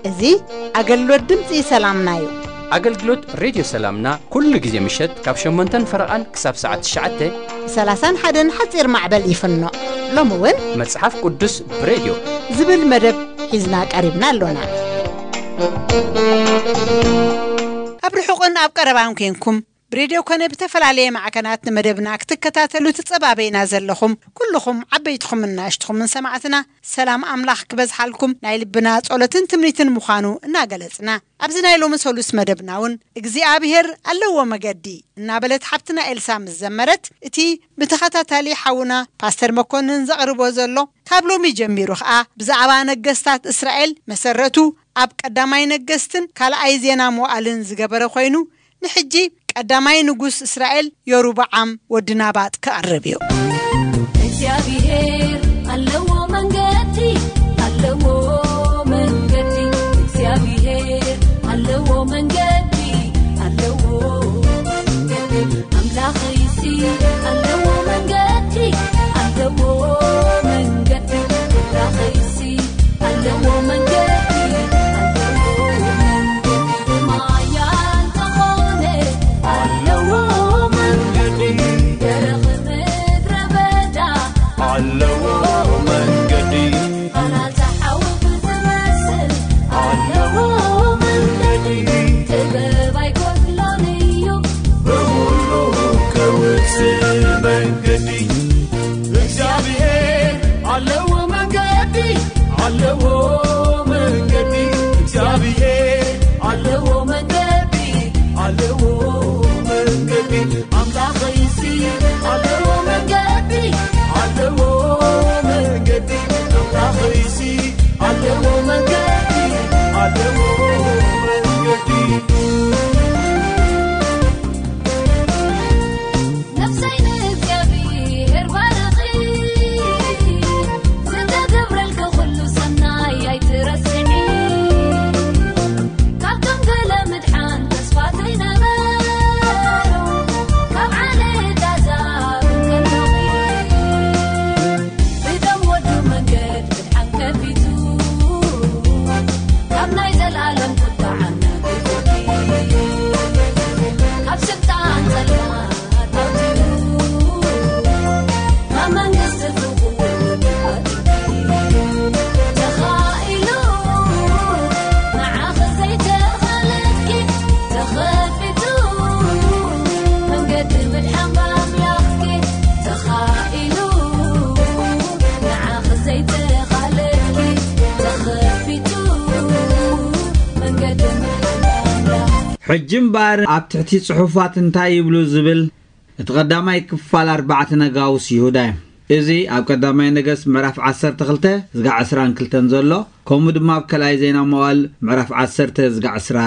እዚ ኣገልግሎት ድምፂ ሰላምና እዩ። ኣገልግሎት ሬድዮ ሰላምና ኩሉ ግዜ ምሸት ካብ ሸሞንተን ፈረቓን ክሳብ ሰዓት ትሽዓተ። ብ ሰላሳን ሓደን ሓፂር ማዕበል ይፍኖ። ሎሚ እውን መጽሓፍ ቅዱስ ብሬድዮ ዝብል መደብ ሒዝና ቀሪብና ኣሎና። ኣብ ርሑቕን ኣብ ቀረባን ኮንኩም ብሬድዮ ኮነ ብተፈላለየ ማዕከናት ንመደብና ክትከታተሉ ትጸባበዩና ዘለኹም ኩልኹም ዓበይትኹምን ንኣሽትኹምን ሰማዕትና ሰላም ኣምላኽ ክበዝሓልኩም ናይ ልብና ጸሎትን ትምኒትን ምዃኑ እናገለጽና፣ ኣብዚ ናይ ሎሚ ሰሉስ መደብና እውን እግዚኣብሔር ኣለዎ መገዲ እናበለት ሓብትና ኤልሳ ምስ ዘመረት፣ እቲ ብተኸታታሊ ሓውና ፓስተር መኮንን ዘቕርቦ ዘሎ ካብ ሎሚ ጀሚሩ ኸኣ ብዛዕባ ነገስታት እስራኤል መሰረቱ ኣብ ቀዳማይ ነገስትን ካልኣይ ዜና መዋእልን ዝገበረ ኮይኑ፣ ንሕጂ ቀዳማይ ንጉስ እስራኤል ዮሩብዓም ወዲ ናባጥ ክቐርብ እዩ። እግዚኣብሔር ኣለዎ መንገዲ፣ ኣለዎ መንገዲ፣ እግዚኣብሔር ኣለዎ መንገዲ፣ ኣለዎ መንገዲ፣ ኣምላኸይሲ ኣለዎ መንገዲ፣ ኣለዎ መንገዲ፣ ኣምላኸይሲ ኣለዎ መንገዲ፣ ኣለዎ መንገዲ፣ ብማያ እንተኾነ ኣለዎ መንገዲ፣ ደረቕ ምድረ በዳ ኣለዎ መንገዲ፣ ቃላታ ሓዊ ብዝመስል ኣለዎ መንገዲ፣ ጥበብ ኣይጎድሎን እዩ ብኹሉ ከውጽእ መንገዲ። እግዚኣብሔር ኣለዎ መንገዲ፣ ኣለዎ መንገዲ፣ እግዚኣብሔር ኣለዎ መንገዲ፣ ኣለዎ መንገዲ፣ ኣምላኸይሲ ኣለዎ መንገዲ፣ ኣለዎ መንገዲ፣ ኣምላኸይሲ ኣለዎ መንገዲ፣ ኣለዎ መንገዲ። ነፍሰይ ንእግዚኣብሔር ባርኺ፣ ዝተገብረልኪ ኩሉ ሰናይ ኣይትረስዒ። ካብቶም ገለ ምድሓን ተስፋ ዘይነበሮ፣ ካብ ዓሌት ኣሕዛብ እንከለኺ፣ ብደም ወዱ መንገድ ምድሓን ከፊቱ፣ ካብ ናይ ዘላለም ቁጥዓ ኣናጊፉኪ፣ ካብ ስልጣን ጸልማት ኣውጺኡ፣ ናብ መንግስቲ ፍቕሩ ኣእትዩኪ። ተኻኢሉ ንዓኺ ዘይተኻለልኪ፣ ተኸፊቱ መንገዲ ምድሓን ብኣምላኽኪ። ተኻኢሉ ንዓኺ ዘይተኻለልኪ፣ ተኸፊቱ መንገዲ ምድሓን ብኣምላኽ። ሕጂ እምበኣር ኣብ ትሕቲ ጽሑፋት እንታይ ይብሉ ዝብል እቲ ቀዳማይ ክፋል ኣርባዕተ ነጋውስ ይሁዳ እዩ። እዚ ኣብ ቀዳማይ ነገስት ምዕራፍ ዓሰርተ ክልተ ዝጋዕ ዕስራን ክልተን ዘሎ፣ ከምኡ ድማ ኣብ ካልኣይ ዜና መዋዕል ምዕራፍ ዓሰርተ ዝጋዕ ዕስራ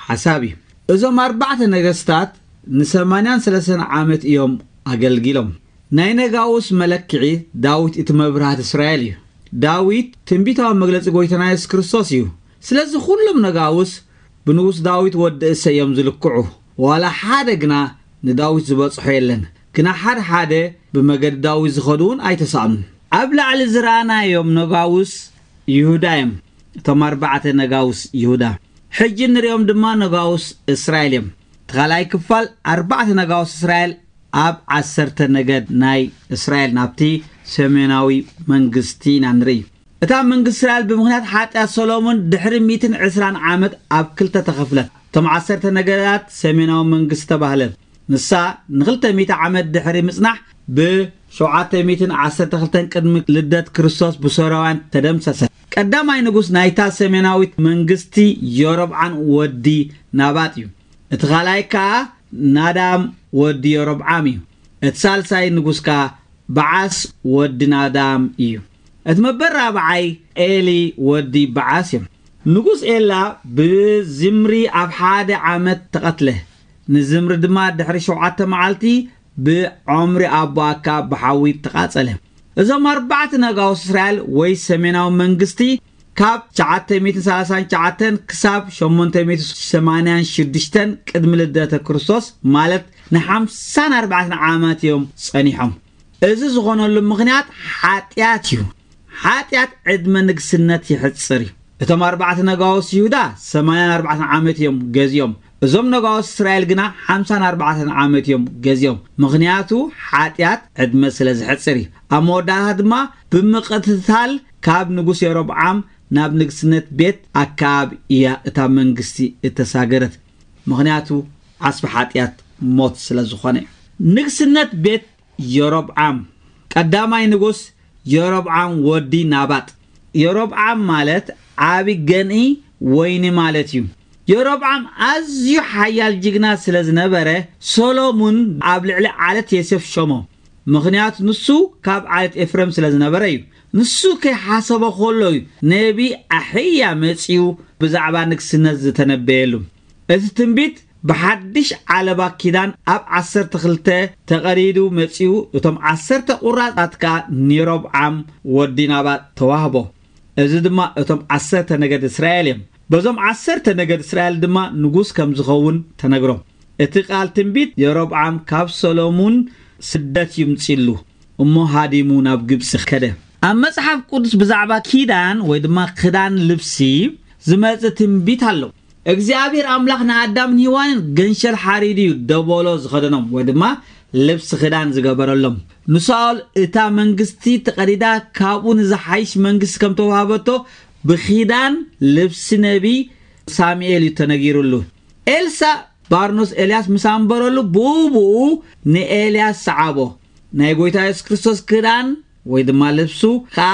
ሓሳብ እዩ። እዞም ኣርባዕተ ነገስታት ንሰማንያን ሰለስተን ዓመት እዮም ኣገልጊሎም። ናይ ነጋውስ መለክዒ ዳዊት እቲ መብርሃት እስራኤል እዩ። ዳዊት ትንቢታዊ መግለጺ ጎይታና የሱስ ክርስቶስ እዩ። ስለዚ ኩሎም ነጋውስ ብንጉስ ዳዊት ወዲ እሰይ እዮም ዝልክዑ። ዋላ ሓደ ግና ንዳዊት ዝበጽሖ የለን። ግና ሓደ ሓደ ብመገዲ ዳዊት ዝኸዱ እውን ኣይተሳእኑን። ኣብ ላዕሊ ዝረኣናዮም ነጋውስ ይሁዳ እዮም። እቶም ኣርባዕተ ነጋውስ ይሁዳ። ሕጂ ንሪኦም ድማ ነጋውስ እስራኤል እዮም። እቲ ካልኣይ ክፋል ኣርባዕተ ነጋውስ እስራኤል ኣብ ዓሰርተ ነገድ ናይ እስራኤል ናብቲ ሰሜናዊ መንግስቲ ኢና ንርኢ። እታ መንግስቲ እስራኤል ብምኽንያት ሓጢኣት ሰሎሞን ድሕሪ ሚእትን ዕስራን ዓመት ኣብ ክልተ ተኸፍለት። እቶም ዓሰርተ ነገዳት ሰሜናዊ መንግስቲ ተባህለ። ንሳ ንኽልተ ሚእቲ ዓመት ድሕሪ ምጽናሕ ብሸውዓተ ሚእትን ዓሰርተ ክልተን ቅድሚ ልደት ክርስቶስ ብሶርያውያን ተደምሰሰት። ቀዳማይ ንጉስ ናይታ ሰሜናዊት መንግስቲ ዮሮብዓን ወዲ ናባጥ እዩ። እቲ ካልኣይ ከኣ ናዳም ወዲ ዮሮብዓም እዩ። እቲ ሳልሳይ ንጉስ ከኣ በዓስ ወዲ ናዳም እዩ። እቲ መበል ራብዓይ ኤሊ ወዲ በዓስ እዮም። ንጉስ ኤላ ብዝምሪ ኣብ ሓደ ዓመት ተቐትለ። ንዝምሪ ድማ ድሕሪ ሸውዓተ መዓልቲ ብዖምሪ ኣቦ ኣካብ ብሓዊ ተቓጸለ። እዞም ኣርባዕተ ነጋውስ እስራኤል ወይ ሰሜናዊ መንግስቲ ካብ ትሽዓተ ሚእትን ሰላሳን ትሽዓተን ክሳብ ሸሞንተ ሚእትን ሰማንያን ሽዱሽተን ቅድሚ ልደተ ክርስቶስ፣ ማለት ንሓምሳን ኣርባዕተን ዓመት እዮም ጸኒሖም። እዚ ዝኾነሉ ምኽንያት ሓጢኣት እዩ። ሓጢኣት ዕድመ ንግስነት ይሕጽር እዩ። እቶም ኣርባዕተ ነጋውስ ይሁዳ ሰማንያን ኣርባዕተን ዓመት እዮም ገዚኦም። እዞም ነጋውስ እስራኤል ግና ሓምሳን ኣርባዕተን ዓመት እዮም ገዚኦም። ምኽንያቱ ሓጢኣት ዕድመ ስለ ዝሕጽር እዩ። ኣብ መወዳእታ ድማ ብምቕትታል ካብ ንጉስ የሮብዓም ናብ ንግስነት ቤት ኣካብ እያ እታ መንግስቲ እተሳገረት። ምኽንያቱ ዓስቢ ሓጢኣት ሞት ስለ ዝኾነ እዩ። ንግስነት ቤት የሮብዓም ቀዳማይ ንጉስ የሮብዓም ወዲ ናባጥ። የሮብዓም ማለት ዓቢ ገንኢ ወይኒ ማለት እዩ። የሮብዓም ኣዝዩ ሓያል ጅግና ስለ ዝነበረ፣ ሰሎሙን ኣብ ልዕሊ ዓለት የሴፍ ሸሞ። ምኽንያቱ ንሱ ካብ ዓለት ኤፍሬም ስለ ዝነበረ እዩ። ንሱ ከይሓሰቦ ከሎ እዩ ነቢ ኣሕያ መጺኡ ብዛዕባ ንግስነት ዝተነበየሉ። እቲ ትንቢት ብሓድሽ ዓለባ ኪዳን ኣብ ዓሰርተ ክልተ ተቐዲዱ መጺኡ፣ እቶም ዓሰርተ ቁራጻት ከኣ ንየሮብዓም ወዲ ናባጥ ተዋህቦ። እዚ ድማ እቶም ዓሰርተ ነገድ እስራኤል እዮም። በዞም ዓሰርተ ነገድ እስራኤል ድማ ንጉስ ከም ዝኸውን ተነግሮ። እቲ ቃል ትንቢት የሮብዓም ካብ ሰሎሙን ስደት ይምጺሉ እሞ ሃዲሙ ናብ ግብጺ ከደ። ኣብ መጽሓፍ ቅዱስ ብዛዕባ ኪዳን ወይ ድማ ክዳን ልብሲ ዝመጽእ ትንቢት ኣሎ። እግዚኣብሔር ኣምላኽ ንኣዳምን ሄዋንን ገንሸል ሓሪዱ እዩ ደበሎ ዝኸደኖም ወይ ድማ ልብሲ ክዳን ዝገበረሎም። ንሳኦል እታ መንግስቲ ተቐዲዳ ካብኡ ንዝሓይሽ መንግስቲ ከም ተዋህበቶ ብኪዳን ልብሲ ነቢ ሳሙኤል እዩ ተነጊሩሉ። ኤልሳ ባርኖስ ኤልያስ ምስ ኣንበረሉ ብኡ ብኡ ንኤልያስ ሰዓቦ። ናይ ጎይታ የሱስ ክርስቶስ ክዳን ወይ ድማ ልብሱ ከኣ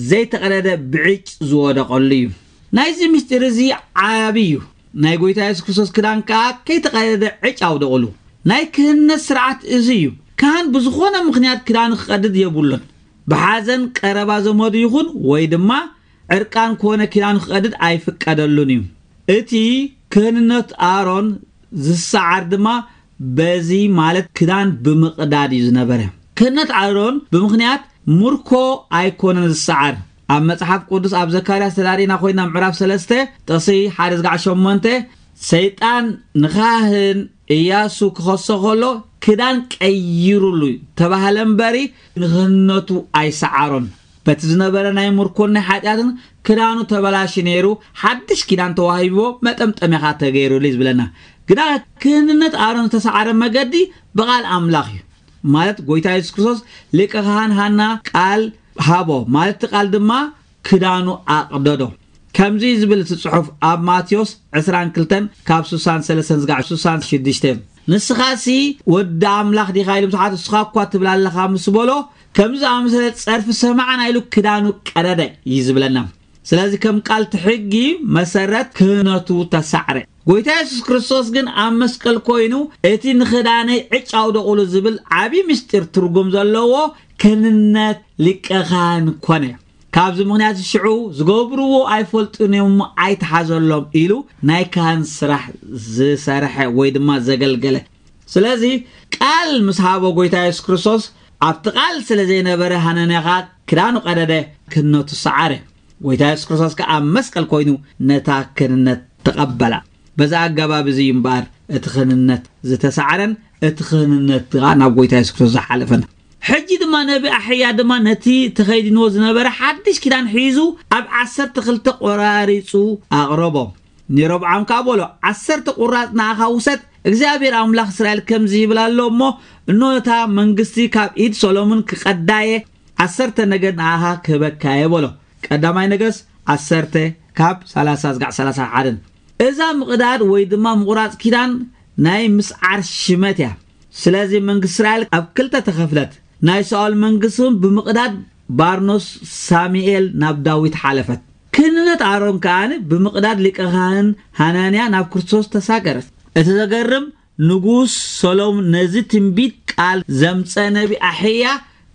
ዘይተቐደደ ብዕጭ ዝወደቐሉ እዩ። ናይዚ ምስጢር እዚ ዓቢ እዩ። ናይ ጎይታ የሱስ ክርስቶስ ክዳን ከኣ ከይተቐደደ ዕጭ ኣውደቕሉ። ናይ ክህነት ስርዓት እዚ እዩ። ካህን ብዝኾነ ምኽንያት ክዳኑ ክቐድድ የብሉን። ብሓዘን ቀረባ ዘመዱ ይኹን ወይ ድማ ዕርቃን ኮነ ክዳኑ ክቐድድ ኣይፍቀደሉን እዩ። እቲ ክህንነት ኣሮን ዝሰዓር ድማ በዚ ማለት ክዳን ብምቕዳድ እዩ ዝነበረ። ክህነት ኣሮን ብምኽንያት ምርኮ ኣይኮነን ዝሰዓር። ኣብ መጽሓፍ ቅዱስ ኣብ ዘካርያስ ተዳሪና ኮይና ምዕራፍ ሰለስተ ጥቕሲ ሓደ ዝጋዕ ሸሞንተ ሰይጣን ንኻህን እያሱ ክኸሶ ከሎ ክዳን ቀይሩሉ ተባህለ እምበሪ ንክህነቱ ኣይሰዓሮን። በቲ ዝነበረ ናይ ምርኮን ናይ ሓጢኣትን ክዳኑ ተበላሹ ነይሩ። ሓድሽ ኪዳን ተዋሂብዎ መጠምጠሚያ ኸኣ ተገይሩሉ እዩ ዝብለና። ግና ክህንነት ኣሮን ዝተሰዓረ መገዲ ብቓል ኣምላኽ እዩ። ማለት ጎይታ የሱስ ክርስቶስ ሊቀ ካህን ሃና ቃል ሃቦ ማለት እቲ ቃል ድማ ክዳኑ ኣቕደዶ። ከምዚ ዝብል እቲ ጽሑፍ ኣብ ማቴዎስ ዕስራን ክልተን ካብ ስሳን ሰለስተን ዝጋዕ ስሳን ሽዱሽተ ንስኻሲ ወዲ ኣምላኽ ዲኻ ኢሉ ምስ ሓት እስኻ እኳ ትብል ኣለኻ ምስ በሎ ከምዚ ኣመሰለ ጸርፊ ሰማዕና ኢሉ ክዳኑ ቀደደ እዩ ዝብለና። ስለዚ ከም ቃል እቲ ሕጊ መሰረት ክህነቱ ተሳዕረ። ጎይታ የሱስ ክርስቶስ ግን ኣብ መስቀል ኮይኑ እቲ ንኽዳነይ ዕጭ ኣውደቑሉ ዝብል ዓቢ ምስጢር ትርጉም ዘለዎ ክህንነት ሊቀ ካህን ኮነ። ካብዚ ምኽንያት ሽዑ ዝገብርዎ ኣይፈልጡን እዮም እሞ ኣይተሓዘሎም ኢሉ ናይ ካህን ስራሕ ዝሰርሐ ወይ ድማ ዘገልገለ። ስለዚ ቃል ምስ ሃቦ ጎይታ የሱስ ክርስቶስ ኣብቲ ቃል ስለ ዘይነበረ ሃነንያ ኸኣ ክዳኑ ቀደደ፣ ክህነቱ ሰዓረ። ጎይታ የሱስ ክርስቶስ ከኣ ኣብ መስቀል ኮይኑ ነታ ክህንነት ተቐበላ። በዛ ኣገባብ እዚ እዩ እምበኣር እቲ ክህንነት ዝተሳዕረን እቲ ክህንነት ከኣ ናብ ጎይታ የሱስ ክርስቶስ ዝሓለፈን። ሕጂ ድማ ነቢ ኣሕያ ድማ ነቲ ተኸይድንዎ ዝነበረ ሓድሽ ኪዳን ሒዙ ኣብ ዓሰርተ ክልተ ቆራሪጹ ኣቕረቦ። ንሮብዓም ከኣ በሎ፣ ዓሰርተ ቁራጽ ንኣኻ ውሰድ፣ እግዚኣብሔር ኣምላኽ እስራኤል ከምዚ ይብል ኣሎ እሞ፣ እኖ እታ መንግስቲ ካብ ኢድ ሰሎሞን ክቐዳየ ዓሰርተ ነገድ ንኣኻ ክህበካየ በሎ። ቀዳማይ ነገስ ዓሰርተ ካብ ሰላሳ ዝጋዕ ሰላሳ ሓደን። እዛ ምቕዳድ ወይ ድማ ምቑራጽ ኪዳን ናይ ምስዓር ሽመት እያ። ስለዚ መንግስቲ እስራኤል ኣብ ክልተ ተኸፍለት። ናይ ሳኦል መንግስቲ እውን ብምቕዳድ ባርኖስ ሳሙኤል ናብ ዳዊት ሓለፈት። ክህንነት ኣሮን ከኣ ብምቕዳድ ሊቀ ካህን ሃናንያ ናብ ክርስቶስ ተሳገረት። እቲ ዘገርም ንጉስ ሰሎም ነዚ ትንቢት ቃል ዘምጸ ነቢ ኣሕያ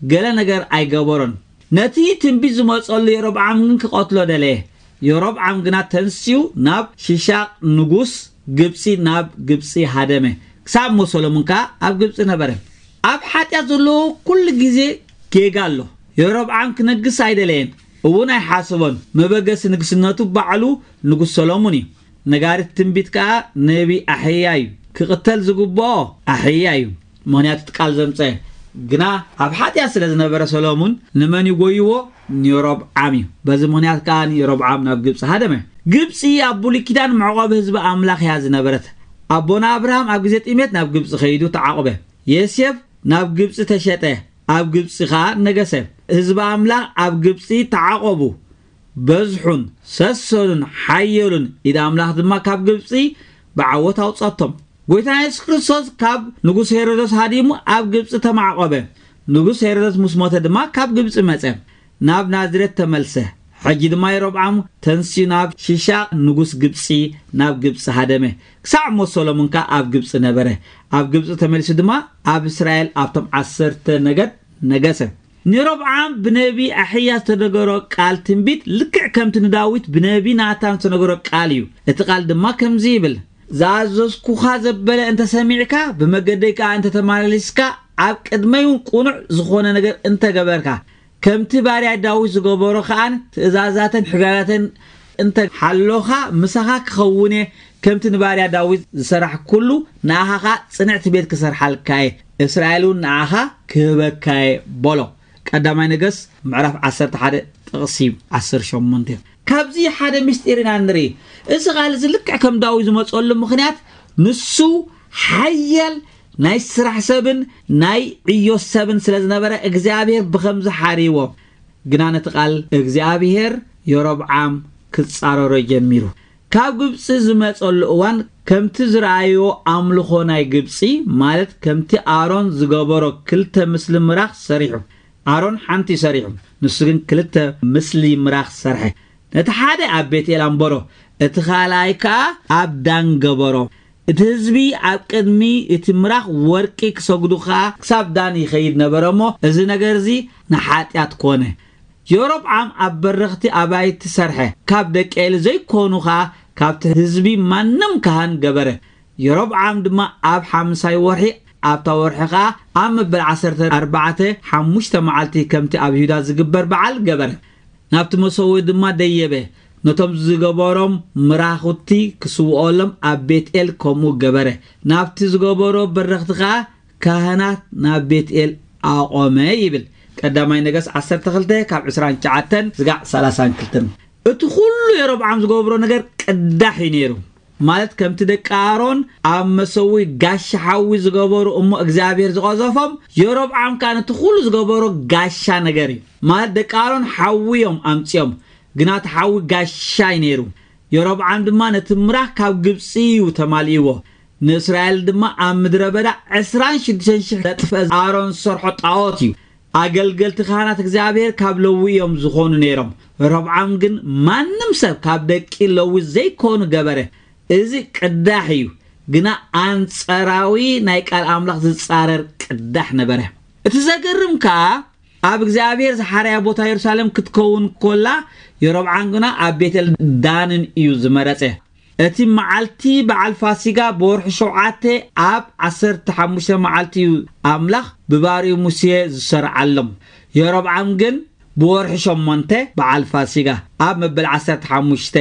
ገለ ነገር ኣይገበሮን። ነቲ ትንቢት ዝመጸሉ የሮብዓም ግን ክቐትሎ ደለየ። የሮብዓም ግና ተንሲኡ ናብ ሽሻቕ ንጉስ ግብጺ ናብ ግብጺ ሃደመ። ክሳብ እሞ ሰሎሞን ከኣ ኣብ ግብጺ ነበረ። ኣብ ሓጢኣት ዘለዎ ኩሉ ግዜ ጌጋ ኣሎ። የሮብዓም ክነግስ ኣይደለየን፣ እውን ኣይሓሰቦን። መበገሲ ንግስነቱ ባዕሉ ንጉስ ሰሎሙን እዩ። ነጋሪት ትንቢት ከኣ ነቢ ኣሕያ እዩ። ክቕተል ዝግብኦ ኣሕያ እዩ፣ ምኽንያቱ እቲ ቃል ዘምጸ። ግና ኣብ ሓጢኣት ስለ ዝነበረ ሰሎሙን ንመን ይጎይዎ? ንየሮብዓም እዩ። በዚ ምኽንያት ከኣ ንየሮብዓም ናብ ግብጺ ሃደመ። ግብጺ ኣብ ብሉይ ኪዳን መዕቆቢ ህዝቢ ኣምላኽ እያ ዝነበረት። ኣቦና ኣብርሃም ኣብ ግዜ ጥሜት ናብ ግብጺ ከይዱ ተዓቆበ። ዮሴፍ ናብ ግብጺ ተሸጠ፣ ኣብ ግብጺ ከኣ ነገሰ። ህዝቢ ኣምላኽ ኣብ ግብጺ ተዓቆቡ። በዝሑን ሰሰኑን ሓየሉን፣ ኢድ ኣምላኽ ድማ ካብ ግብጺ ብዓወት ኣውጸቶም። ጎይታ የሱስ ክርስቶስ ካብ ንጉስ ሄሮዶስ ሃዲሙ ኣብ ግብጺ ተማዕቆበ። ንጉስ ሄሮዶስ ምስ ሞተ ድማ ካብ ግብጺ መጸ፣ ናብ ናዝሬት ተመልሰ። ሕጂ ድማ የሮብዓም ተንሲኡ ናብ ሺሻቅ ንጉስ ግብጺ፣ ናብ ግብጺ ሃደመ። ክሳዕ ሞት ሰሎሞን ከኣ ኣብ ግብጺ ነበረ። ኣብ ግብጺ ተመሊሱ ድማ ኣብ እስራኤል ኣብቶም ዓሰርተ ነገድ ነገሰ። ንሮብዓም ብነቢ ኣሕያ ዝተነገሮ ቃል ትንቢት ልክዕ ከምቲ ንዳዊት ብነቢ ናታን ዝተነገሮ ቃል እዩ። እቲ ቃል ድማ ከምዚ ይብል፣ ዝኣዘዝኩኻ ዘበለ እንተሰሚዕካ፣ ብመገደይ ከኣ እንተተመላሊስካ፣ ኣብ ቅድመይ እውን ቅኑዕ ዝኾነ ነገር እንተገበርካ፣ ከምቲ ባርያ ዳዊት ዝገበሮ ከኣን ትእዛዛተን ሕጋጋተን እንተ ሓሎኻ፣ ምሳኻ ክኸውን እየ። ከምቲ ንባርያ ዳዊት ዝሰራሕ ኩሉ ንኣኻ ኸኣ ጽንዕቲ ቤት ክሰርሓልካ እየ። እስራኤል እውን ንኣኻ ክህበካ እየ በሎ። ቀዳማይ ነገስ ምዕራፍ ዓሰርተ ሓደ ጥቕሲ ዓሰርተ ሸሞንተ። ካብዚ ሓደ ምስጢር ኢና ንርኢ። እዚ ቃል እዚ ልክዕ ከም ዳዊት ዝመጸሉ ምኽንያት ንሱ ሓያል ናይ ስራሕ ሰብን ናይ ዕዮ ሰብን ስለ ዝነበረ እግዚኣብሔር ብኸምዚ ሓሪዎ። ግና ነቲ ቃል እግዚኣብሔር የሮብዓም ክጻረሮ ጀሚሩ። ካብ ግብጺ ዝመጸሉ እዋን ከምቲ ዝረኣዮ ኣምልኾ ናይ ግብጺ፣ ማለት ከምቲ ኣሮን ዝገበሮ ክልተ ምስሊ ምራኽ ሰሪሑ። ኣሮን ሓንቲ እዩ ሰሪሑ፣ ንሱ ግን ክልተ ምስሊ ምራኽ ሰርሐ። ነቲ ሓደ ኣብ ቤትኤል ኣንበሮ፣ እቲ ካልኣይ ከኣ ኣብ ዳን ገበሮ። እቲ ህዝቢ ኣብ ቅድሚ እቲ ምራኽ ወርቂ ክሰግዱ ከኣ ክሳብ ዳን ይኸይድ ነበረ እሞ፣ እዚ ነገር እዚ ንሓጢኣት ኮነ። የሮብዓም ኣብ በረኽቲ ኣባይቲ ሰርሐ፣ ካብ ደቂ ኤሊ ዘይኮኑ ከኣ ካብቲ ህዝቢ ማንም ካህን ገበረ። የሮብዓም ድማ ኣብ ሓምሳይ ወርሒ፣ ኣብታ ወርሒ ከኣ ኣብ መበል ዓሰርተ ኣርባዕተ ሓሙሽተ መዓልቲ፣ ከምቲ ኣብ ይሁዳ ዝግበር በዓል ገበረ። ናብቲ መሰውኢ ድማ ደየበ። ነቶም ዝገበሮም ምራኹቲ ክስውኦሎም ኣብ ቤትኤል ከምኡ ገበረ። ናብቲ ዝገበሮ በረኽቲ ከኣ ካህናት ናብ ቤትኤል ኣቖመ ይብል። ቀዳማይ ነገስ ዓሰርተ ክልተ ካብ ዕስራን ትሽዓተን ዝጋዕ ሰላሳን ክልተን። እቲ ኩሉ የሮብዓም ዝገብሮ ነገር ቅዳሕ እዩ ነይሩ። ማለት ከምቲ ደቂ ኣሮን ኣብ መሰውኢ ጋሻ ሓዊ ዝገበሩ እሞ እግዚኣብሔር ዝቐዘፎም፣ የሮብዓም ከኣ ነቲ ኩሉ ዝገበሮ ጋሻ ነገር እዩ። ማለት ደቂ ኣሮን ሓዊ እዮም ኣምጺኦም፣ ግና እቲ ሓዊ ጋሻ እዩ ነይሩ። የሮብዓም ድማ ነቲ ምራኽ ካብ ግብጺ እዩ ተማሊእዎ። ንእስራኤል ድማ ኣብ ምድረ በዳ ዕስራን ሽዱሽተን ሽሕ ዘጥፍአ ኣሮን ዝሰርሖ ጣዖት እዩ። ኣገልገልቲ ካህናት እግዚኣብሔር ካብ ለዊ እዮም ዝኾኑ ነይሮም። ሮብዓም ግን ማንም ሰብ ካብ ደቂ ለዊ ዘይኮኑ ገበረ። እዚ ቅዳሕ እዩ፣ ግና ኣንጸራዊ ናይ ቃል ኣምላኽ ዝጻረር ቅዳሕ ነበረ። እቲ ዘገርም ከኣ ኣብ እግዚኣብሔር ዝሓረያ ቦታ የሩሳሌም ክትከውን ኮላ፣ የሮብዓም ግና ኣብ ቤተል ዳንን እዩ ዝመረጸ። እቲ መዓልቲ በዓል ፋሲጋ ብወርሒ ሸውዓተ ኣብ ዓሰርተ ሓሙሽተ መዓልቲ እዩ ኣምላኽ ብባርኡ ሙሴ ዝሰርዓሎም። የሮብዓም ግን ብወርሒ ሸሞንተ በዓል ፋሲጋ ኣብ መበል ዓሰርተ ሓሙሽተ፣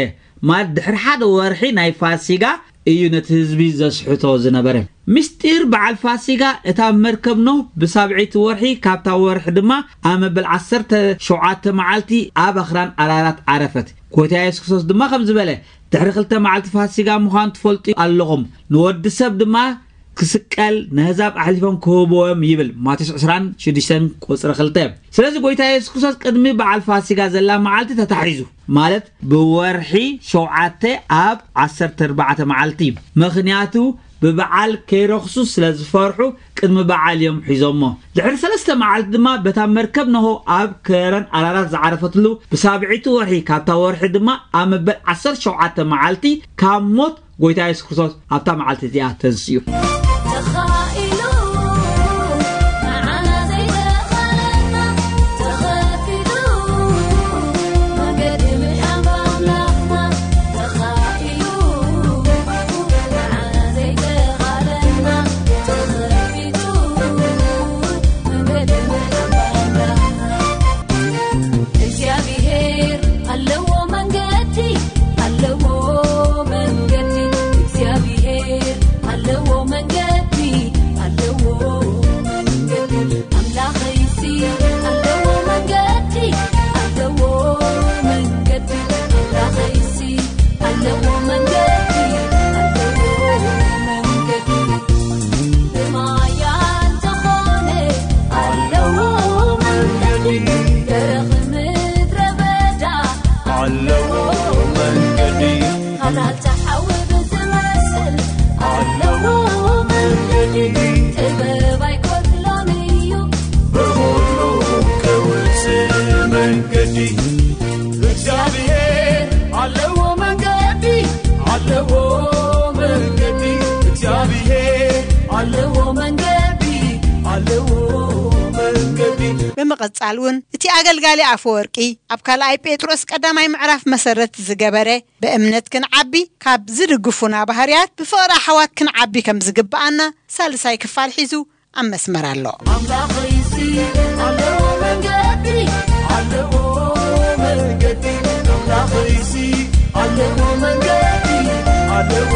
ማለት ድሕሪ ሓደ ወርሒ ናይ ፋሲጋ እዩ ነቲ ህዝቢ ዘስሕቶ ዝነበረ። ምስጢር በዓል ፋሲጋ፣ እታ መርከብ ኖህ ብሳብዐይቲ ወርሒ ካብታ ወርሒ ድማ ኣብ መበል ዓሰርተ ሸውዓተ መዓልቲ ኣብ ኣኽራን ኣራራት ዓረፈት። ጎይታ የሱስ ክርስቶስ ድማ ከም ዝበለ፣ ድሕሪ ክልተ መዓልቲ ፋሲጋ ምዃኑ ትፈልጡ ኣለኹም፣ ንወዲ ሰብ ድማ ክስቀል፣ ነህዛብ ኣሕሊፎም ክህብዎም ይብል። ማቴዎስ ዕስራን ሽዱሽተን ቁጽሪ ክልተ። ስለዚ ጎይታ የሱስ ክርስቶስ ቅድሚ በዓል ፋሲጋ ዘላ መዓልቲ ተታሒዙ፣ ማለት ብወርሒ ሸውዓተ ኣብ ዓሰርተ ኣርባዕተ መዓልቲ እዩ። ምኽንያቱ ብበዓል ከይረኽሱ ስለ ዝፈርሑ ቅድሚ በዓል እዮም ሒዞሞ። ድሕሪ ሰለስተ መዓልቲ ድማ በታ መርከብ ኖሆ ኣብ ከረን ኣራራት ዝዓረፈትሉ ብሳብዒቱ ወርሒ ካብታ ወርሒ ድማ ኣብ መበል ዓሰርተ ሸውዓተ መዓልቲ ካብ ሞት ጎይታ የሱስ ክርስቶስ ኣብታ መዓልቲ እዚኣ ተንስኡ። ተኻኢሉ ንዓና ዘይተኻለና ተኸፊቱ መንገዲ ምድሓን ብኣምላኽና ተኻኢሉ ንዓና ዘይተኻለና ተኸፊቱ መንገዲ ምድሓን ብኣምላኽና ናብታ ሓዊ ብዝመስል ኣለዎ መንገዲ፣ ጥበብ ኣይጎድሎን እዩ። ብኹሉ ክውስን መንገዲ፣ እግዚኣብሔር ኣለዎ መንገዲ፣ ኣለዎ መንገዲ፣ እግዚኣብሔር ኣለዎ መንገዲ፣ ኣለዎ መንገዲ። ብምቕጻል እውን እቲ ኣገልጋሊ ኣፈወርቂ ኣብ ካልኣይ ጴጥሮስ ቀዳማይ ምዕራፍ መሰረት ዝገበረ ብእምነት ክንዓቢ ካብ ዝድግፉና ባህርያት ብፍቕሪ ኣሕዋት ክንዓቢ ከም ዝግብኣና ሳልሳይ ክፋል ሒዙ ኣብ መስመር ኣሎ። ኣምላኸይሲ ኣለዎ መንገዲ፣ ኣለዎ መንገዲ፣ ኣምላኸይሲ ኣለዎ መንገዲ፣ ኣለዎ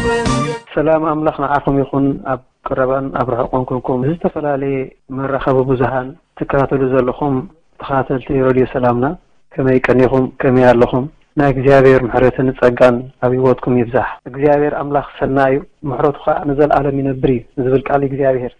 መንገዲ። ሰላም ኣምላኽ ንዓኹም ይኹን። ኣብ ቀረባን ኣብ ርሑቕን ኮንኩም ዝተፈላለየ መራኸቢ ብዙሃን ትከታተሉ ዘለኹም ተኸታተልቲ ሬድዮ ሰላምና፣ ከመይ ቀኒኹም? ከመይ ኣለኹም? ናይ እግዚኣብሔር ምሕረትን ጸጋን ኣብ ህይወትኩም ይብዛሕ። እግዚኣብሔር ኣምላኽ ሰናይ እዩ፣ ምሕረቱ ኸኣ ንዘለኣለም ይነብር እዩ ዝብል ቃል እግዚኣብሔር።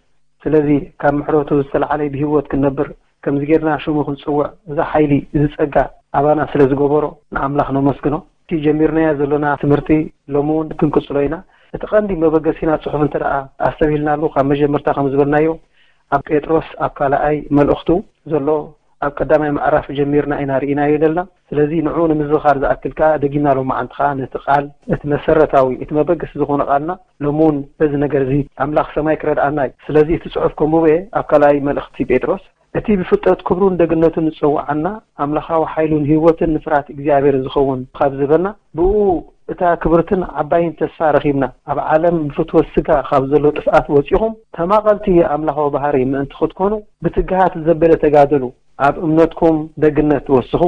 ስለዚ ካብ ምሕረቱ ዝተለዓለ ብህይወት ክንነብር፣ ከምዚ ጌርና ሽሙ ክንጽውዕ፣ እዚ ሓይሊ፣ እዚ ጸጋ ኣባና ስለ ዝገበሮ ንኣምላኽ ነመስግኖ። እቲ ጀሚርናዮ ዘሎና ትምህርቲ ሎሚ እውን ክንቅጽሎ ኢና። እቲ ቀንዲ መበገሲና ጽሑፍ እንተ ደኣ ኣስተብሂልናሉ፣ ካብ መጀመርታ ከም ዝበልናዮ፣ ኣብ ጴጥሮስ ኣብ ካልኣይ መልእኽቱ ዘሎ ኣብ ቀዳማይ ምዕራፍ ጀሚርና ኢና ርኢናዮ ዘለና። ስለዚ ንዕኡ ንምዝኻር ዝኣክል ከኣ ደጊምና ሎማዓንቲ ከኣ ነቲ ቃል፣ እቲ መሰረታዊ፣ እቲ መበገሲ ዝኾነ ቃልና ሎሚ እውን በዚ ነገር እዚ ኣምላኽ ሰማይ ክረድኣና እዩ። ስለዚ እቲ ጽሑፍ ከንብቦ እየ። ኣብ ካልኣይ መልእኽቲ ጴጥሮስ፣ እቲ ብፍልጠት ክብሩን ደግነቱን ዝጸውዓና ኣምላኻዊ ሓይሉን ህይወትን ንፍርሃት እግዚኣብሔር ዝኸውን ካብ ዝበልና፣ ብእኡ እታ ክብርትን ዓባይን ተስፋ ረኺብና፣ ኣብ ዓለም ብፍትወት ስጋ ካብ ዘሎ ጥፍኣት ወጺኹም፣ ተማቐልቲ ኣምላኻዊ ባህሪ ምእንቲ ክትኮኑ፣ ብትግሃት ዘበለ ተጋደሉ። ኣብ እምነትኩም ደግነት ወስኹ፣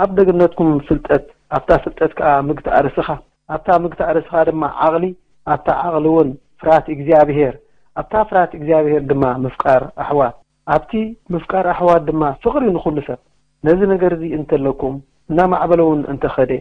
ኣብ ደግነትኩም ፍልጠት፣ ኣብታ ፍልጠት ከኣ ምግታእ ርእስኻ፣ ኣብታ ምግታእ ርእስኻ ድማ ዓቕሊ፣ ኣብታ ዓቕሊ እውን ፍርሃት እግዚኣብሔር፣ ኣብታ ፍርሃት እግዚኣብሔር ድማ ምፍቃር ኣሕዋት፣ ኣብቲ ምፍቃር ኣሕዋት ድማ ፍቕሪ ንኹሉ ሰብ። ነዚ ነገር እዚ እንተለኩም፣ እናማዕበለ እውን እንተኸደ፣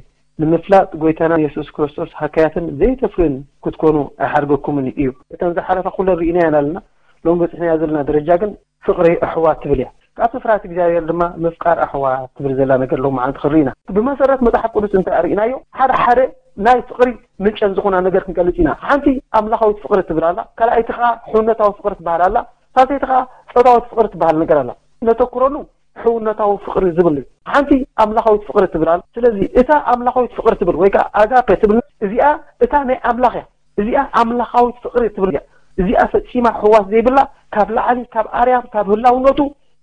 ንምፍላጥ ጐይታና የሱስ ክርስቶስ ሃካያትን ዘይተፍርዩን ክትኮኑ ኣይሓድገኩምን እዩ። እተን ዝሓለፋ ኩለን ርኢናየን ኣለና። ሎሚ በጺሕናዮ ዘለና ደረጃ ግን ፍቕሪ ኣሕዋት ትብል እያ። ካብቲ ፍርሃት እግዚኣብሔር ድማ ምፍቃር ኣሕዋት ትብል ዘላ ነገር ሎማዓንቲ ክንርኢ ኢና። ብመሰረት መጽሓፍ ቅዱስ እንተ ርኢናዮ፣ ሓደ ሓደ ናይ ፍቕሪ ምንጨን ዝኾና ነገር ክንገልጽ ኢና። ሓንቲ ኣምላኻዊት ፍቕሪ ትብል ኣላ፣ ካልኣይቲ ኸኣ ሕውነታዊ ፍቕሪ ትበሃል ኣላ፣ ሳልሰይቲ ኸኣ ጾታዊት ፍቕሪ ትበሃል ነገር ኣላ። ነተኩረሉ ሕውነታዊ ፍቕሪ ዝብል እዩ። ሓንቲ ኣምላኻዊት ፍቕሪ ትብል ኣላ። ስለዚ እታ ኣምላኻዊት ፍቕሪ ትብል ወይ ከኣ ኣጋፔ ትብል እዚኣ እታ ናይ ኣምላኽ እያ። እዚኣ ኣምላኻዊት ፍቕሪ ትብል እያ። እዚኣ ፈጺማ ሕዋስ ዘይብላ፣ ካብ ላዕሊ፣ ካብ ኣርያም፣ ካብ ህላውነቱ፣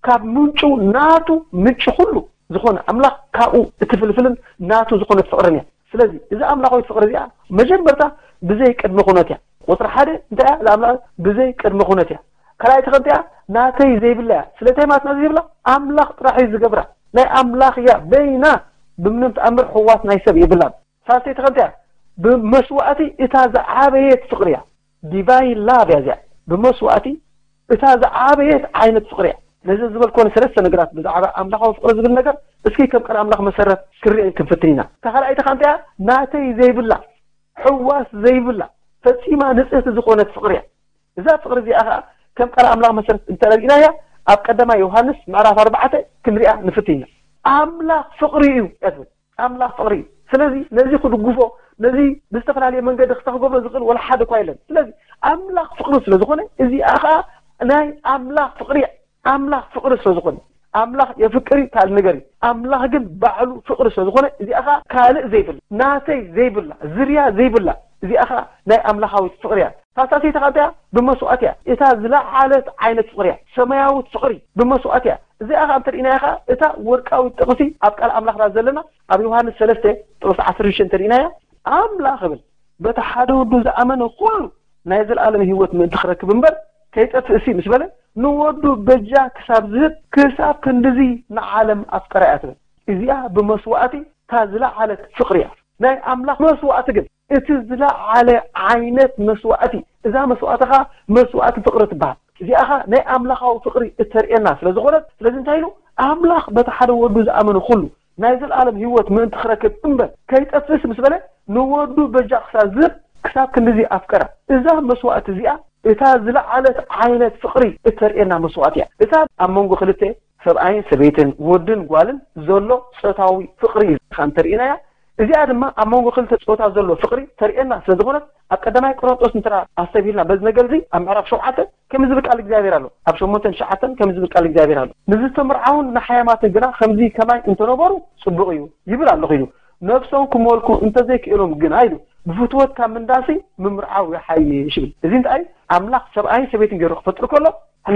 ካብ ምንጩ፣ ናቱ ምንጪ ኩሉ ዝኾነ ኣምላኽ ካብኡ እትፍልፍልን ናቱ ዝኾነት ፍቕርን እያ። ስለዚ እዛ ኣምላኻዊት ፍቕሪ እዚኣ መጀመርታ ብዘይ ቅድመ ኩነት እያ። ቁጽሪ ሓደ እንታይ እያ? እዛ ኣምላኽ ብዘይ ቅድመ ኩነት እያ። ካልኣይቲ ከ እንታይ እያ? ናተይ ዘይብላ እያ። ስለታይ ማለት ናተይ ዘይብላ? ኣምላኽ ጥራሕ እዩ ዝገብራ። ናይ ኣምላኽ እያ። በይና ብምንም ተኣምር ሕዋስ ናይ ሰብ የብላን። ሳልሰይቲ ከ እንታይ እያ? ብመስዋእቲ እታ ዝዓበየት ፍቕሪ እያ። ዲቫይን ላቭ እያ እዚኣ። ብመስዋእቲ እታ ዝዓበየት ዓይነት ፍቕሪ እያ። ነዚ ዝበልኮ ሰለስተ ነገራት ብዛዕባ ኣምላኻዊ ፍቕሪ ዝብል ነገር እስኪ ከም ቃል ኣምላኽ መሰረት ክንሪኦ ክንፍትን ኢና። እታ ካልኣይቲ ከ እንታይ እያ? ናተይ ዘይብላ፣ ሕዋስ ዘይብላ፣ ፈጺማ ንጽህቲ ዝኾነት ፍቕሪ እያ። እዛ ፍቕሪ እዚኣ ኸኣ ከም ቃል ኣምላኽ መሰረት እንተ ርኢናያ ኣብ ቀዳማይ ዮሃንስ ምዕራፍ ኣርባዕተ ክንሪኣ ንፍትን ኢና። ኣምላኽ ፍቕሪ እዩ እያ ትብል። ኣምላኽ ፍቕሪ እዩ። ስለዚ ነዚ ክድግፎ፣ ነዚ ብዝተፈላለየ መንገዲ ክሳ ክገብሮ ዝኽእል ወላ ሓደ እኳ የለን። ስለዚ ኣምላኽ ፍቕሪ ስለ ዝኾነ እዚኣ ኸኣ ናይ ኣምላኽ ፍቕሪ እያ። ኣምላኽ ፍቕሪ ስለ ዝኾነ፣ ኣምላኽ የፍቅር እዩ ካልእ ነገር እዩ። ኣምላኽ ግን ባዕሉ ፍቕሪ ስለ ዝኾነ እዚኣ ኸኣ ካልእ ዘይብላ፣ ናተይ ዘይብላ፣ ዝርያ ዘይብላ፣ እዚኣ ኸኣ ናይ ኣምላኻዊት ፍቕሪ እያ። ሳልሳይቲ ኸኣ እንታይ እያ? ብመስዋእቲ እያ። እታ ዝለዓለት ዓይነት ፍቕሪ እያ። ሰማያዊት ፍቕሪ ብመስዋእቲ እያ። እዚኣ ኸኣ እንተ ርኢናያ ኸኣ እታ ወርቃዊት ጥቕሲ ኣብ ቃል ኣምላኽና ዘለና ኣብ ዮሃንስ ሰለስተ ጥቕሲ ዓሰርተ ሽዱሽተ እንተ ርኢናያ፣ ኣምላኽ እብል በቲ ሓደ ወዱ ዝኣመነ ኩሉ ናይ ዘለኣለም ህይወት ምእንቲ ክረክብ እምበር ከይጠፍእ ሲ ምስ በለ፣ ንወዱ በጃ ክሳብ ዝህብ ክሳብ ክንድዚ ንዓለም ኣፍቀራ እያ ትብል። እዚኣ ብመስዋእቲ እታ ዝለዓለት ፍቕሪ እያ። ናይ ኣምላኽ መስዋእቲ ግን እቲ ዝለዓለ ዓይነት መስዋእቲ፣ እዛ መስዋእቲ ኸኣ መስዋእቲ ፍቕሪ ትበሃል። እዚኣ ኸኣ ናይ ኣምላኻዊ ፍቕሪ እተርእየና ስለ ዝኾነት፣ ስለዚ እንታይ ኢሉ? ኣምላኽ በቲ ሓደ ወዱ ዝኣመነ ኩሉ ናይ ዘለኣለም ህይወት ምእንቲ ክረክብ እምበር ከይጠፍእስ ምስ በለ፣ ንወዱ በጃ ክሳብ ዝህብ ክሳብ ክንድዚ ኣፍቀራ። እዛ መስዋእቲ እዚኣ እታ ዝለዓለት ዓይነት ፍቕሪ እተርእየና መስዋእቲ እያ። እታ ኣብ መንጎ ክልተ ሰብኣይን ሰበይትን፣ ወድን ጓልን ዘሎ ጾታዊ ፍቕሪ ኢልካ እንተርኢናያ፣ እዚኣ ድማ ኣብ መንጎ ክልተ ጾታ ዘሎ ፍቕሪ ተርእየና ስለ ዝኾነት፣ ኣብ ቀዳማይ ቆሮንጦስ እንተ ኣስተብሂልና በዚ ነገር እዚ ኣብ ምዕራፍ ሸውዓተ ከም ዝብል ቃል እግዚኣብሔር ኣሎ። ኣብ ሸሞንተን ትሽዓተን ከም ዝብል ቃል እግዚኣብሔር ኣሎ። ንዝተምርዓውን ንሓያማትን ግና ከምዚ ከማይ እንተነበሩ ጽቡቕ እዩ ይብል ኣሎ። ኪዱ ነብሶም ክመልኩ እንተዘይክእሎም ግና ኢሉ ብፍትወት ካብ ምንዳሲ ምምርዓው ይሓይሽ ይብል። እዚ እንታይ ኣምላኽ ሰብኣይን ሰበይትን ገይሩ ክፈጥር ከሎ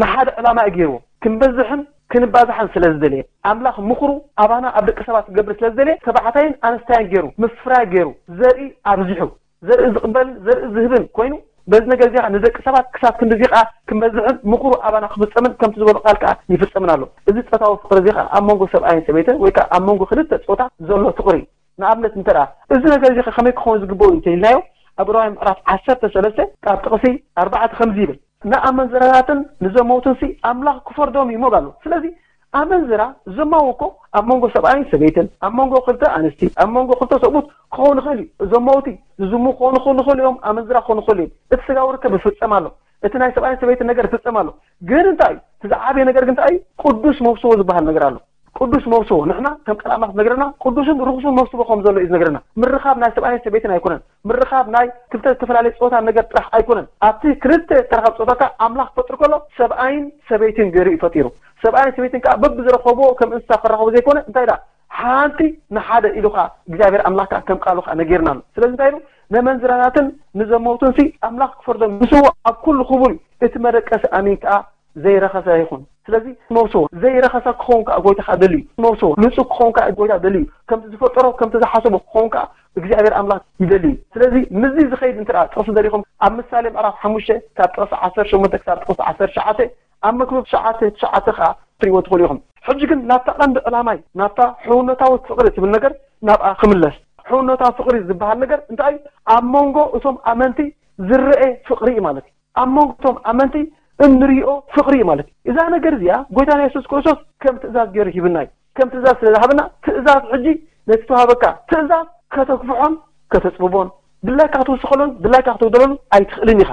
ንሓደ ዕላማ እዩ ገይርዎ። ክንበዝሕን ክንባዝሓን ስለ ዝደለየ ኣምላኽ ምኽሩ ኣባና ኣብ ደቂ ሰባት ክገብር ስለ ዝደለየ ተባዕታይን ኣንስታይን ገይሩ ምፍራይ ገይሩ ዘርኢ ኣብዚሑ ዘርኢ ዝቕበል ዘርኢ ዝህብን ኮይኑ በዚ ነገር እዚ ንደቂ ሰባት ክሳብ ክንድዚ ከዓ ክንበዝሕን ምኽሩ ኣባና ክፍጸምን ከምቲ ዝበሎ ቃል ከዓ ይፍጸምን ኣሎ። እዚ ጾታዊ ፍቕሪ እዚ ከዓ ኣብ መንጎ ሰብኣይን ሰበይትን ወይ ከዓ ኣብ መንጎ ክልተ ጾታ ዘሎ ፍቕሪ እዩ። ንኣብነት እንተ ደኣ እዚ ነገር እዚ ከመይ ክኸውን ዝግበኦ እዩ እንተኢልናዮ ኣብ ሮማይ ምዕራፍ ዓሰርተ ሰለስተ ካብ ጥቕሲ ኣርባዕተ ከምዚ ይብል፣ ንኣመንዝራታትን ንዘመውትን ሲ ኣምላኽ ክፈርዶም እዩ ይብል ኣሎ። ስለዚ ኣመንዝራ ዘማዊ እኮ ኣብ መንጎ ሰብኣይን ሰበይትን ኣብ መንጎ ክልተ ኣንስቲ ኣብ መንጎ ክልተ ሰብኡት ክኸውን ይኽእል እዩ። ዘመውቲ ዝዝሙ ክኾኑ ክኽእሉ እዮም። ኣመንዝራ ክኾኑ ክኽእሉ እዮም። እቲ ስጋዊ ርከብ ይፍጸም ኣሎ። እቲ ናይ ሰብኣይን ሰበይትን ነገር ይፍጸም ኣሎ። ግን እንታይ እዩ እቲ ዝዓበየ ነገር ግን እንታይ እዩ? ቅዱስ መውስቦ ዝበሃል ነገር ኣሎ። ቅዱስ መውስቦ ንሕና ከም ቃል ኣምላኽ ዝነግረና ቅዱስን ርኹስን መውስቦ ከም ዘሎ እዩ ዝነግረና። ምርኻብ ናይ ሰብኣይን ሰበይትን ኣይኮነን። ምርኻብ ናይ ክልተ ዝተፈላለየ ጾታ ነገር ጥራሕ ኣይኮነን። ኣብቲ ክልተ ተራኸብ ጾታ ከዓ ኣምላኽ ክፈጥር ከሎ ሰብኣይን ሰበይትን ገይሩ እዩ ፈጢሩ። ሰብኣይን ሰበይትን ከዓ በብዝረኸብዎ ከም እንስሳ ክራኸቡ ዘይኮነ እንታይ ደኣ ሓንቲ ንሓደ ኢሉ ከዓ እግዚኣብሔር ኣምላኽ ከዓ ከም ቃሉ ከዓ ነጊርና ኣሎ። ስለዚ እንታይ ኢሉ ነመንዝራታትን ንዘመውትን ሲ ኣምላኽ ክፈርዶም ምስዎ ኣብ ኩሉ ክቡር እዩ። እቲ መደቀሲ ኣሚን ከዓ ዘይረኸሰ ይኹን። ስለዚ መውስቦ ዘይረኸሰ ክኸውን ከዓ ጎይታ ከዓ ደልዩ። መውስቦ ንጹህ ክኸውን ከዓ ጎይታ ደልዩ። ከምቲ ዝፈጠሮ ከምቲ ዝሓሰቦ ክኸውን ከዓ እግዚኣብሔር ኣምላኽ ይደሊ እዩ። ስለዚ ምስዚ ዝኸይድ እንተ ደኣ ጥቕሲ ደሊኹም ኣብ ምሳሌ ምዕራፍ ሓሙሽተ ካብ ጥቕሲ ዓሰርተ ሸሞንተ ክሳብ ጥቕሲ ዓሰርተ ትሽዓተ ኣብ መክብብ ትሽዓተ ትሽዓተ ከዓ ትሪእዎ ትኽእሉ ኢኹም። ሕጂ ግን ናብታ ቀንዲ ዕላማይ ናብታ ሕውነታዊ ፍቕሪ ትብል ነገር ናብኣ ክምለስ። ሕውነታዊ ፍቕሪ ዝበሃል ነገር እንታይ እዩ? ኣብ መንጎ እቶም ኣመንቲ ዝረአ ፍቕሪ እዩ ማለት እዩ። ኣብ መንጎ እቶም ኣመንቲ እንሪኦ ፍቕሪ እዩ ማለት እዩ። እዛ ነገር እዚኣ ጎይታና የሱስ ክርስቶስ ከም ትእዛዝ ገይሩ ሂብና እዩ። ከም ትእዛዝ ስለ ዝሃበና ትእዛዝ ሕጂ ነቲ ተዋህበካ ትእዛዝ ከተግፍሖን ከተጽብቦን ድላይካ ክትውስኸሎን ድላይካ ክትጉደለሉ ኣይትኽእልን ኢኻ።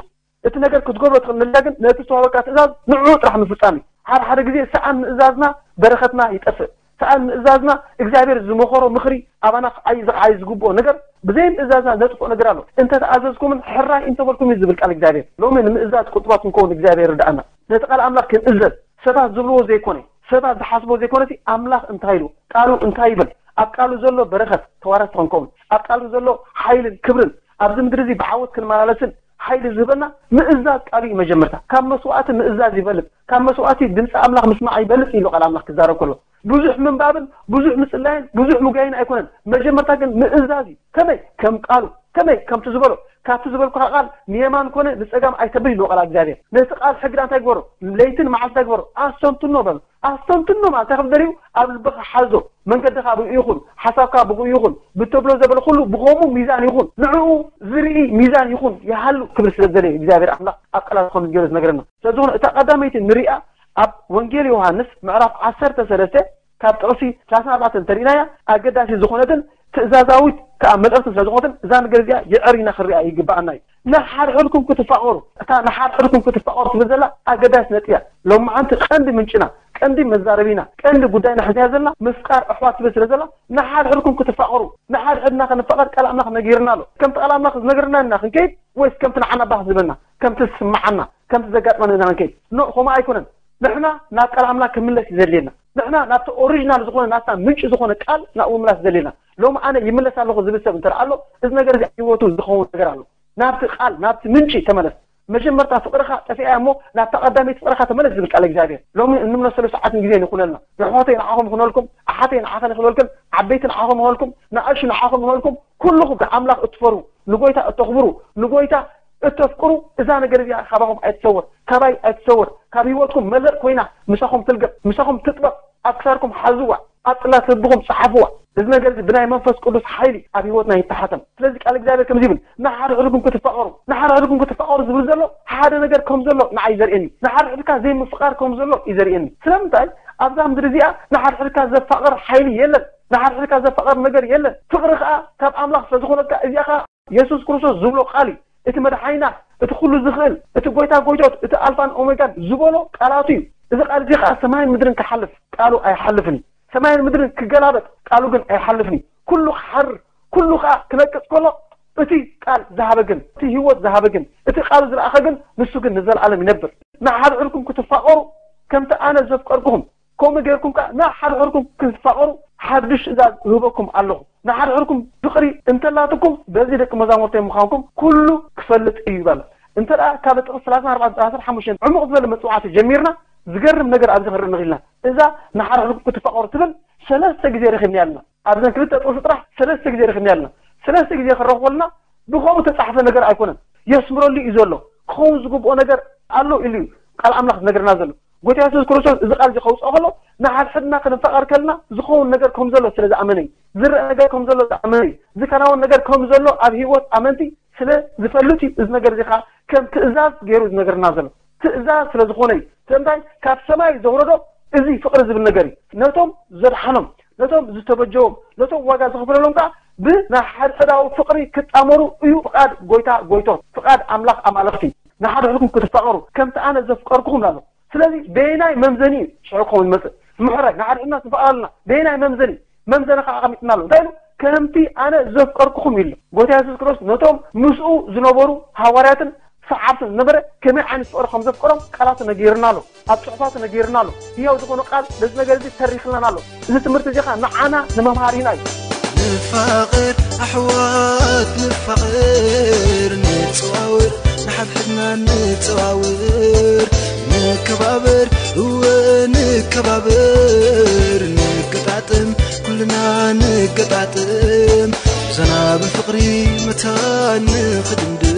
እቲ ነገር ክትገብሮ ትኽእል ንላ ግን ነቲ ዝተዋህበካ ትእዛዝ ንዕኡ ጥራሕ ምፍጻም እዩ። ሓደ ሓደ ግዜ ሰኣን ምእዛዝና በረኸትና ይጠፍእ። ሰኣን ምእዛዝና እግዚኣብሔር ዝመኸሮ ምኽሪ ኣባና ክዓይ ዝዓይ ዝግብኦ ነገር ብዘይ ምእዛዝና ዘጥፍኦ ነገር ኣሎ። እንተ ተኣዘዝኩምን ሕራይ እንተበልኩም እዩ ዝብል ቃል እግዚኣብሔር። ሎሚ ንምእዛዝ ቁጥባት ክንከውን እግዚኣብሔር ይርድኣና። ነቲ ቃል ኣምላኽ ክንእዘዝ ሰባት ዝብልዎ ዘይኮነ ሰባት ዝሓስቦ ዘይኮነሲ ኣምላኽ እንታይ ኢሉ ቃሉ እንታይ ይብል ኣብ ቃሉ ዘሎ በረኸት ተዋረስቲ ክንከውን ኣብ ቃሉ ዘሎ ሓይልን ክብርን ኣብዚ ምድሪ እዚ ብዓወት ክንመላለስን ሓይሊ ዝህበና ምእዛዝ ቃሉ እዩ መጀመርታ ካብ መስዋእቲ ምእዛዝ ይበልፅ ካብ መስዋእቲ ድምፂ ኣምላኽ ምስማዕ ይበልፅ ኢሉ ቃል ኣምላኽ ክዛረብ ከሎ ብዙሕ ምንባብን ብዙሕ ምፅላይን ብዙሕ ምጉያይን ኣይኮነን መጀመርታ ግን ምእዛዝ እዩ ከመይ ከም ቃሉ ከመይ ከምቲ ዝበሎ ካብቲ ዝበልኩካ ቃል ንየማን ኮነ ንፀጋም ኣይተብል ኢሉ ቃል እግዚኣብሔር ነቲ ቃል ሕግዳ እንታይ ግበሮ ለይትን መዓልቲ እንታይ ግበሮ ኣስተንትኖ በሉ ኣስተንትኖ ማለት እንታይ ከም ደልዩ ኣብ ልብኻ ሓዞ መንገድኻ ብኡ ይኹን ሓሳብካ ብኡ ይኹን ብተብሎ ዘበለ ኩሉ ብኸምኡ ሚዛን ይኹን ንዕኡ ዝርኢ ሚዛን ይኹን ይሃሉ ክብል ስለ ዝደለየ እግዚኣብሔር ኣምላኽ ኣብ ቃላት ከም ዝገለ ዝነገረና ስለዝኾነ እታ ቀዳመይቲ ንሪኣ ኣብ ወንጌል ዮሃንስ ምዕራፍ ዓሰርተ ሰለስተ ካብ ጥቕሲ ሰላሳ ኣርባዕተ እንተሪእናያ ኣገዳሲ ዝኾነትን ትእዛዛዊት ከዓ መልእኽቲ ስለ ዝኾነትን እዛ ነገር እዚኣ የዐሪና ክንሪኣ ይግባኣና እዩ ንሓድሕድኩም ክትፋቐሩ እታ ንሓድሕድኩም ክትፋቐሩ ትብል ዘላ ኣገዳሲ ነጥቢ እያ ሎማዓንቲ ቀንዲ ምንጭና ቀንዲ መዛረቢና ቀንዲ ጉዳይና ሕዝያ ዘላ ምፍቃር ኣሕዋት ትብል ስለ ዘላ ንሓድሕድኩም ክትፋቐሩ ንሓድሕድና ክንፋቐር ቃል ኣምላኽ ነጊርና ኣሎ ከምቲ ቃል ኣምላኽ ዝነገርና ኢና ክንከይድ ወይስ ከምቲ ንዓና ባህ ዝበልና ከምቲ ዝስምዓና ከምቲ ዘጋጥመና ኢና ክንከይድ ኖ ከምኡ ኣይኮነን ንሕና ናብ ቃል ኣምላኽ ክምለስ እዩ ዘድልየና ንሕና ናብቲ ኦሪጂናል ዝኾነ ናብታ ምንጪ ዝኾነ ቃል ናብኡ ምምላስ ዘድልየና ሎሚ ኣነ ይምለስ ኣለኹ ዝብል ሰብ እንተ ኣሎ እዚ ነገር እዚ ህይወቱ ዝኸውን ነገር ኣሎ ናብቲ ቃል ናብቲ ምንጪ ተመለስ መጀመርታ ፍቕርኻ ጠፊኣ እሞ ናብታ ቀዳመይቲ ፍቕርኻ ተመለስ ዝብል ቃል እግዚኣብሔር ሎሚ እንምለሰሉ ሰዓትን ግዜን ይኹነልና የሕዋተይ ንዓኹም ይኹነልኩም ኣሓተይ ንዓኸን ይኹነልክን ዓበይቲ ንዓኹም ይኹነልኩም ንኣሹ ንዓኹም ይኹነልኩም ኩልኹም ንኣምላኽ እትፈርሁ ንጎይታ እተኽብሩ ንጎይታ እተፍቅሩ እዛ ነገር እዚኣ ካባኹም ኣይትሰወር ካባይ ኣይትሰወር ካብ ህይወትኩም መለእ ኮይና ምሳኹም ትልገብ ምሳኹም ትጥበቕ ኣብ ክሳድኩም ሓዝዋ ኣብ ጽላት ልብኹም ጸሓፍዋ እዚ ነገር እዚ ብናይ መንፈስ ቅዱስ ሓይሊ ኣብ ህይወትና ይተሓተም ስለዚ ቃል እግዚኣብሔር ከምዚ ይብል ንሓድሕድኩም ክትፋቐሩ ንሓድሕድኩም ክትፋቐሩ ዝብል ዘሎ ሓደ ነገር ከም ዘሎ ንዓይ ዘርእየኒ ንሓድሕድካ ዘይምፍቓር ከም ዘሎ እዩ ዘርእየኒ ስለምንታይ ኣብዛ ምድሪ እዚኣ ንሓድሕድካ ዘፋቕር ሓይሊ የለን ንሓድሕድካ ዘፋቕር ነገር የለን ፍቕሪ ከዓ ካብ ኣምላኽ ስለ ዝኾነካ እዚኣ ከዓ የሱስ ክርስቶስ ዝብሎ ቃል እዩ እቲ መድሓኒና እቲ ኩሉ ዝኽእል እቲ ጎይታ ጎይቶት እቲ ኣልፋን ኦሜጋን ዝበሎ ቃላቱ እዩ እዚ ቃል እዚ ከዓ ሰማይን ምድርን ክሓልፍ ቃሉ ኣይሓልፍን እዩ ሰማይን ምድርን ክገላበጥ ቃሉ ግን ኣይሓልፍን እዩ ኩሉ ክሓርር ኩሉ ከዓ ክነቅፅ ከሎ እቲ ቃል ዝሃበ ግን፣ እቲ ህይወት ዝሃበ ግን፣ እቲ ቃሉ ዝለኣኸ ግን፣ ንሱ ግን ንዘለኣለም ይነብር። ንሓድሕድኩም ክትፋቐሩ ከምቲ ኣነ ዘፍቀርኩኹም፣ ከምኡ ጌርኩም ከዓ ንሓድሕድኩም ክትፋቐሩ ሓድሽ ትእዛዝ እህበኩም ኣለኹ። ንሓድሕድኩም ፍቕሪ እንተላትኩም፣ በዚ ደቂ መዛሙርተይ ምዃንኩም ኩሉ ክፈልጥ እዩ በለ። እንተ ደኣ ካብ ጥቕሲ ሰላሳን ኣርባዕተን ሰላሳን ሓሙሽተን ዕሙቕ ዝበለ መጽዋዕቲ ጀሚርና፣ ዝገርም ነገር ኣብዚ ክንርኢ ንኽእል ኢና። እዛ ንሓድሕድኩም ክትፋቐሩ ትብል ሰለስተ ግዜ ረኺብና ኣለና። ኣብዘን ክልተ ጥቕሲ ጥራሕ ሰለስተ ግዜ ረኺብና ኣለና። ሰለስተ ግዜ ክረኽቦ ኣለና። ብኸምኡ ተጻሕፈ ነገር ኣይኮነን። የስምረሉ እዩ ዘሎ። ክኸውን ዝግብኦ ነገር ኣሎ ኢሉ እዩ ቃል ኣምላኽ ዝነግረና ዘሎ። ጎይታ የሱስ ክርስቶስ እዚ ቃል እዚ ከውጽኦ ከሎ፣ ንሓድሕድና ክንፋቐር ከለና ዝኸውን ነገር ከም ዘሎ ስለ ዝኣመነ እዩ። ዝረአ ነገር ከም ዘሎ ዝኣመነ እዩ። ዝከናወን ነገር ከም ዘሎ ኣብ ህይወት ኣመንቲ ስለ ዝፈልጥ እዩ። እዚ ነገር እዚ ኸኣ ከም ትእዛዝ ገይሩ ዝነግረና ዘሎ። ትእዛዝ ስለ ዝኾነ እዩ። ስለምንታይ? ካብ ሰማይ ዘውረዶ እዚ ፍቕሪ ዝብል ነገር እዩ። ነቶም ዘድሓኖም፣ ነቶም ዝተበጀዎም፣ ነቶም ዋጋ ዝኸፈለሎም ከኣ ብናይ ሓድሕዳዊ ፍቕሪ ክጣመሩ እዩ ፍቓድ ጎይታ ጎይቶት፣ ፍቓድ ኣምላኽ ኣማልኽቲ። ንሓድሕድኩም ክትፋቐሩ ከምቲ ኣነ ዘፍቀርኩኹም ኣሎ። ስለዚ በየናይ መምዘኒ እዩ ሽዑ ክኸውን ዝመጽእ? ምሕረት፣ ንሓድሕድና ንፋቐር ኣለና። በየናይ መምዘኒ? መምዘኒ ከዓ ኣቐሚጥና ኣሎ። እንታይ ኢሉ? ከምቲ ኣነ ዘፍቀርኩኹም ኢሉ። ጎይታ የሱስ ክርስቶስ ነቶም ምስኡ ዝነበሩ ሃዋርያትን ሰዓብትን ዝነበረ ከመይ ዓይነት ፍቕሪ ከም ዘፍቀሮም ቃላቱ ነጊርና ኣሎ። ኣብ ጽሑፋቱ ነጊርና ኣሎ። ህያው ዝኾነ ቃል ነዚ ነገር እዚ ተሪኽልናን ኣሎ። እዚ ትምህርቲ እዚ ኸዓ ንዓና ንመምሃሪና እዩ። ንፋቐር ኣሕዋት ንፋቐር፣ ንጸዋወር ንሓድሕድና ንጸዋወር፣ ንከባበር እወ ንከባበር፣ ንገጣጥም ኩልና ንገጣጥም፣ ዞና ብፍቕሪ መታን ንኽድምድም።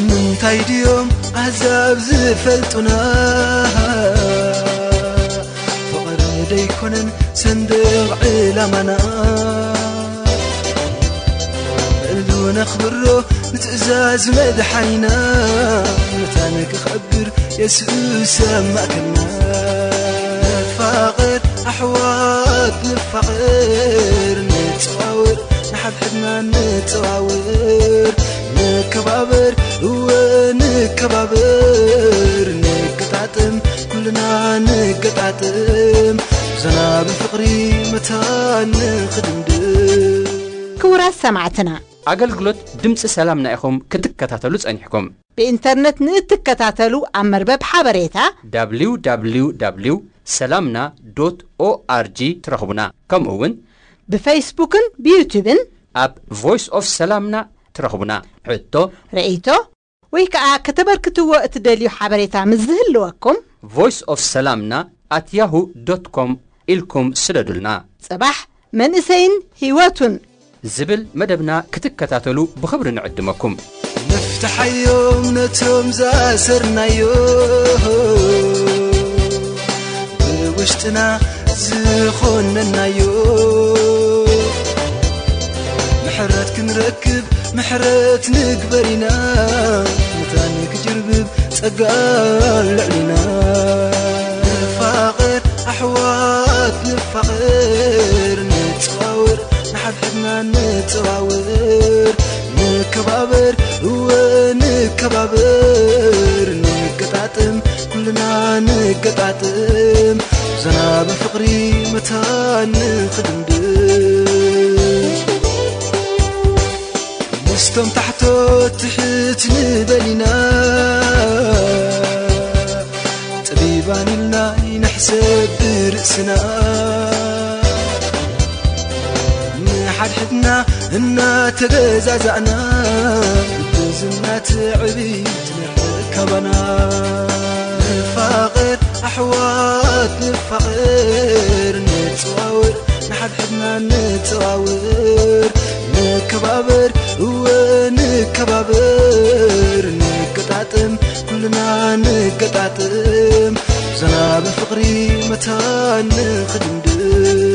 ምንታይ ድዮም ኣሕዛብ ዝፈልጡና? ፍቕሪ ደይኮነን ሰንደቕ ዕላማና? እሉ ነኽብሮ ንትእዛዝ መድሓኒና፣ መታን ክኸብር የሱስ ኣብ ማእከልና። ንፋቐር ኣሕዋት ንፋቐር፣ ንጸዋወር ንሓድሕድና ንጸዋወር፣ ንከባበር እወ ንከባበር፣ ንገጣጥም ኩልና ንገጣጥም፣ ዞና ብፍቕሪ መታን ንኽድምድም። ክቡራት ሰማዕትና፣ ኣገልግሎት ድምፂ ሰላምና ኢኹም ክትከታተሉ ጸኒሕኩም። ብኢንተርነት ንእትከታተሉ ኣብ መርበብ ሓበሬታ www ሰላምና ዶት ኦኣርጂ ትረኽቡና። ከምኡ እውን ብፌስቡክን ብዩቱብን ኣብ ቮይስ ኦፍ ሰላምና ትረኽቡና። ሕቶ፣ ርእይቶ ወይ ከዓ ከተበርክትዎ እትደልዩ ሓበሬታ ምስ ዝህልወኩም ቮይስ ኦፍ ሰላምና ኣት ያሁ ዶት ኮም ኢልኩም ስደዱልና። ጽባሕ መንእሰይን ህይወቱን ዝብል መደብና ክትከታተሉ ብኽብሪ ንዕድመኩም። ነፍትሓዮም ነቶም ዛሰርናዮ፣ ብውሽጥና ዝኾነናዮ፣ ምሕረት ክንረክብ ምሕረት ንግበር ኢና፣ መታን ክጅርብብ ጸጋ ልዕሊና። ንፋቐር ኣሕዋት ንፋቐር፣ ንጸዋወር ንሓድሕድና ንጸዋወር፣ ንከባበር እወ ንከባበር፣ ንገጣጥም ኩልና ንገጣጥም፣ ዞና ብፍቕሪ መታን ንኽድምድም። ምስቶም ታሕቶት ትሕት ንበል ኢና፣ ጠቢባን ኢልና ይንሕሰብ ብርእስና። ንሓድሕድና እናተገዛዛእና፣ ብዝና ትዕቢት ንርሕቅ ካባና። ንፋቐር ኣሕዋት ንፋቐር፣ ንጸዋወር ንሓድሕድና ንጸዋወር፣ ንከባበር እወ ንከባበር፣ ንገጣጥም ኩልና ንገጣጥም፣ ዞና ብፍቕሪ መታን ንኽድምድም።